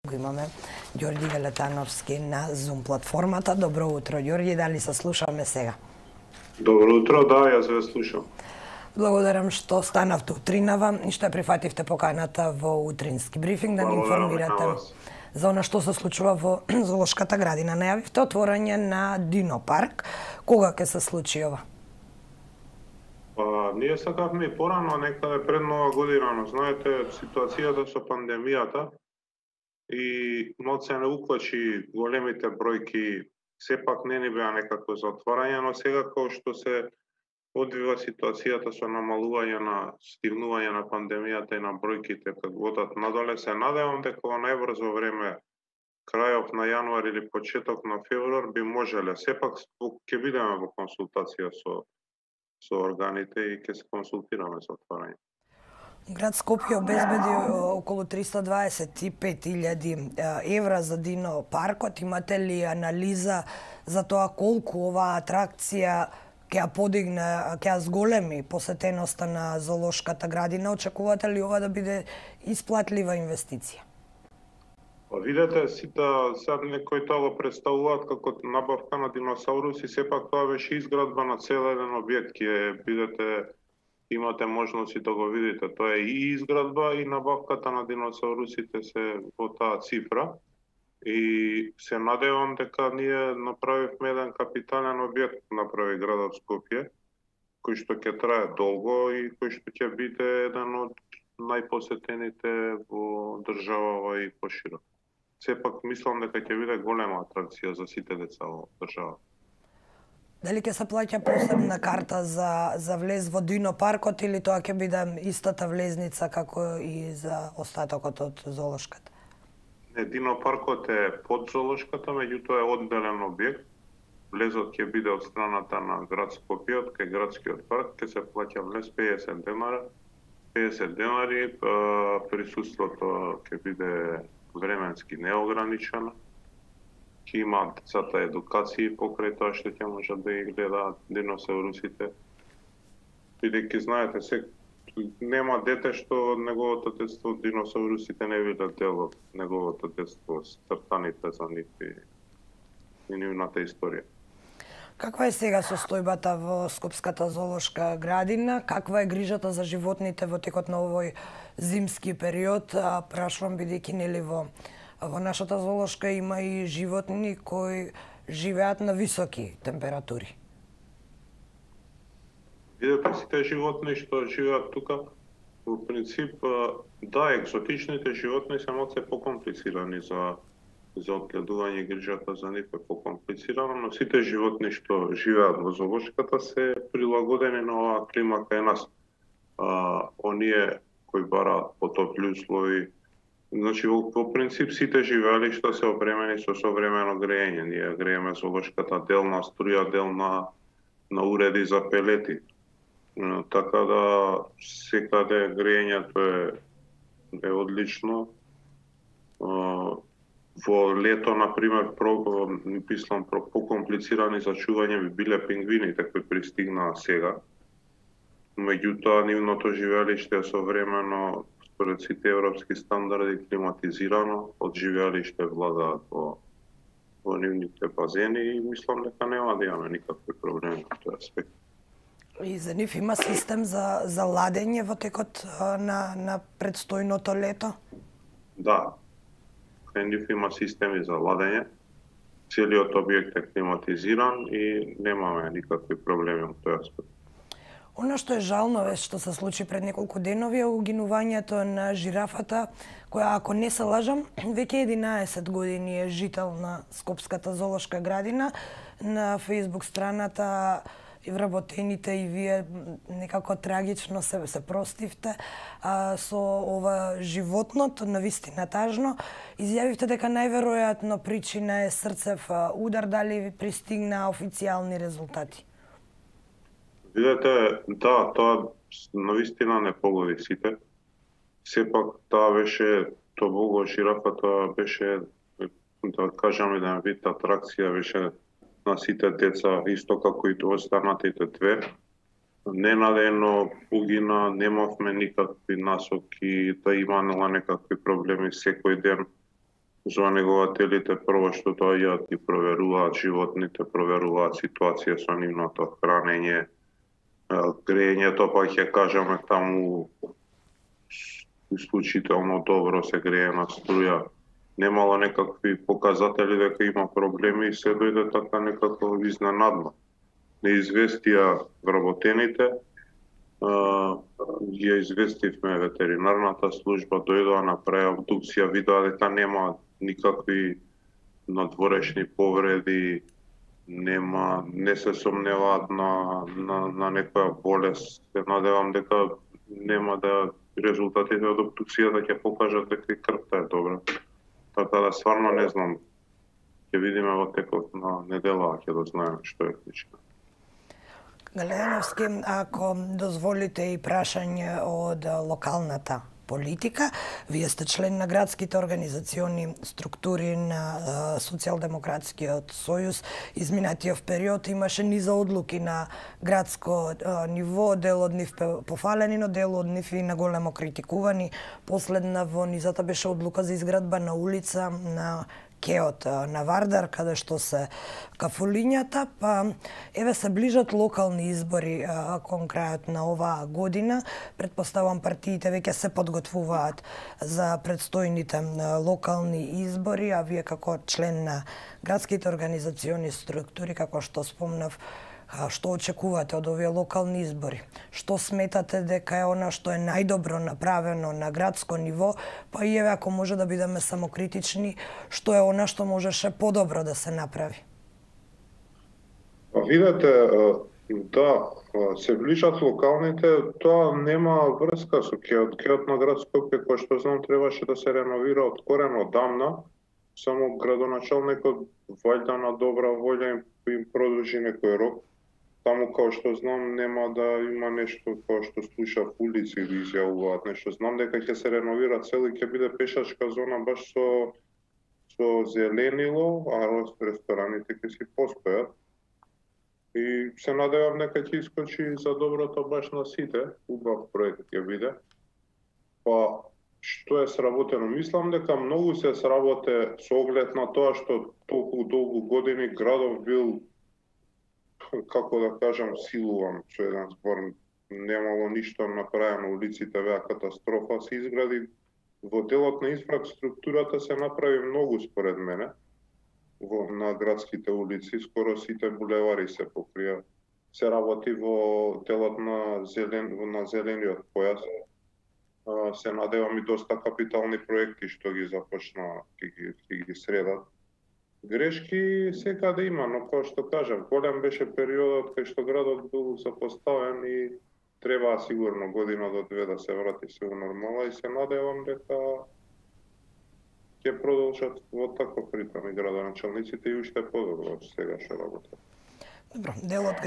Го имаме Ѓорѓи Галетановски на Zoom платформата. Добро утро, Ѓорѓи, дали се слушаме сега? Добро утро, да, јас ве слушам. Благодарам што станавте утринава и што прифативте поканата во утрински брифинг да ни информирате за она што се случува во Зоолошката градина. Најавивте отворање на Дино парк. Кога ќе се случи ова? Ние сакавме и порано, некаде пред Нова година, но знаете, ситуацијата со пандемијата и ноце не уклучи големите бројки, сепак не ни беа некако за отворање, но сега како што се одвива ситуацијата со намалување на стигнување на пандемијата и на бројките како одат надоле, се надевам дека во најбрзо време, крајот на јануари или почеток на февруар би можеле. Сепак ќе бидеме во консултација со органите и ќе се консултираме за отворање. Град Скопје обезбеди околу 325.000 евра за Дино паркот. Имате ли анализа за тоа колку оваа атракција ќе ја подигне, ќе ја зголеми посетеноста на Зоолошката градина? Очекувате ли ова да биде исплатлива инвестиција? Видете, сега некои тоа го представуваат како набавка на диносауруси, сепак тоа беше изградба на цел еден објект, ќе бидете, имате можност и да го видите. Тоа е и изградба и набавката на диносаурусите се во таа цифра. И се надевам дека ние направивме еден капитален објект, направи градот Скопје, кој што ќе трае долго и кој што ќе биде еден од најпосетените во државава и поширо. Сепак мислам дека ќе биде голема атракција за сите деца во држава. Дали ќе се плаќа посебна карта за влез во Дино паркот или тоа ќе биде истата влезница како и за остатокот од Зоолошката? Не, Дино паркот е под Зоолошката, меѓутоа е одделен објект. Влезот ќе биде од страната на град Скопје, кај градскиот парк, ќе се плаќа влез 50 денари, присуството ќе биде временски неограничено. Ќе имаат децата едукации покрај тоа што ќе можат да ги гледаат диносаурусите. Бидејќи знаете, нема дете што неговото детство диносаурусите не биде дел од неговото детство, стартаните за нив и нивната историја. Каква е сега состојбата во Скопската зоолошка градина? Каква е грижата за животните во текот на овој зимски период? Прашувам бидејќи нели во нашата зоолошка има и животни кои живеат на високи температури. Видете, сите животни што живеат тука, во принцип, да, екзотичните животни се малку покомплицирани за одгледување и грижата за нив е покомплицирано, но сите животни што живеат во зоолошката се прилагодени на оваа клима кај нас. Оние кои бараат потопли услови, значи во принцип сите живеалишта се опремени со современо грејење. Ние грееме зоолошката дел на струја, дел на уреди за пелети. Така да секаде грејењето е одлично. Во лето, например, мислам, покомплицирани за чување би биле пингвините кои пристигнаа сега. Меѓутоа, нивното живеалиште е современо, според сите европски стандарди, климатизирано, од живеалиште владаат во нивните базени и мислам дека нема да имаме никакви проблеми во тој аспект. И за нив има систем за ладење во текот на предстојното лето? Да. Кај нив има системи за ладење. Целиот објект е климатизиран и немаме никакви проблеми во тој аспект. Оно што е жално е што се случи пред неколку денови е угинувањето на жирафата, која, ако не се лажам, веќе 11 години е жител на Скопската зоолошка градина. На Facebook страната и вработените и вие некако трагично се простивте со ова животното, навистина тажно. Изјавивте дека најверојатно причина е срцев удар, дали ви пристигна официјални резултати? Видете, да, тоа навистина не погоди сите. Сепак тоа беше, жирафата беше, да кажам, еден вид атракција, беше на сите деца, исто како и останатите две. Ненадено угина, немавме никакви насоки да има некакви проблеми секој ден. Звонегувателите прво што доаѓаат и проверуваат животните, проверуваат ситуација со нивното хранење, грејењето, па ќе кажеме таму исклучително добро се грее на струја. Немало некакви показатели дека има проблеми и се дојде така некако изненадно. Неизвестија вработените, ја известивме ветеринарната служба, дојдоа, направи обдукција, видоа дека нема никакви надворешни повреди, не се сомневаат на некоја болест. Се надевам дека нема да резултатите од обдукцијата ќе покажат дека и крвта е добра. Така да стварно не знам. Ќе видиме во текот на недела, ќе дознаеме што е клучно. Галејановски, ако дозволите и прашање од локалната политика, вие сте член на градските организациони структури на Социјалдемократскиот сојуз. Изминатиот период имаше низа одлуки на градско ниво, дел од нив пофалени, но дел од нив и наголемо критикувани. Последна во низата беше одлука за изградба на улица на кеот на Вардар, каде што се кафулињата, па еве се ближат локални избори кон крајот на оваа година. Предпоставам партиите веќе се подготвуваат за предстојните локални избори, а вие како член на градските организациони структури, како што спомнав, што очекувате од овие локални избори? Што сметате дека е она што е најдобро направено на градско ниво, па и еве ако може да бидеме самокритични, што е она што можеше подобро да се направи? Видете, да, се ближат локалните, тоа нема врска со кеот. Кеот на град Скопје, кој што знам, требаше да се реновира од корен одамна, само градоначалникот вајда на добра волја им продолжи некој рок. Таму, као што знам, нема да има нешто као што слушав улици или изјавуваат нешто. Знам дека ќе се реновира цел и ќе биде пешачка зона баш со зеленило, а рестораните ќе си постојат. И се надевам дека ќе искочи за доброто баш на сите, убав проект ќе биде. Па, што е сработено? Мислам дека многу се сработе со оглед на тоа што толку долгу години градов бил, како да кажам, силуван со еден збор. Немало ништо направено, улиците беа катастрофа, се изгради во делот на инфраструктурата се направи многу според мене на градските улици, скоро сите булевари се покрија. Се работи во делот на зелениот појас. Се надевам и доста капитални проекти што ги започна, ќе ги средат. Грешки секаде има, но како што кажав, голем беше периодот кај што градот бил запоставен и требаа сигурно година до две да се врати се во нормала и се надевам дека ќе продолжат во таков ритм и градоначалниците и уште подобро сега што работат. Добро, дел од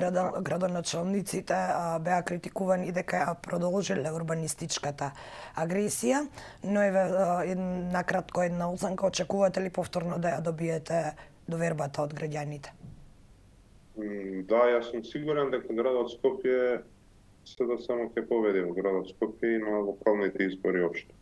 градоначалниците беа критикувани дека ја продолжиле урбанистичката агресија, но еве накратко една оценка, очекувате ли повторно да ја добиете довербата од граѓаните? Да, јас сум сигурен дека градот Скопје се да само ќе победи во градот Скопје и на локалните избори општо.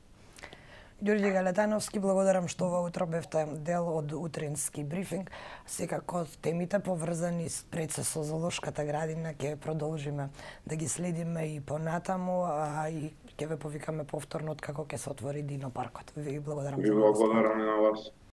Ѓорѓе Галетановски, благодарам што ова утро бевте дел од утрински брифинг. Секако темите поврзани пред со зоолошката градина ќе продолжиме да ги следиме и понатаму, а и ќе ве повикаме повторно откако ќе се отвори динопаркот. Ви благодарам. Ви благодарам и на вас.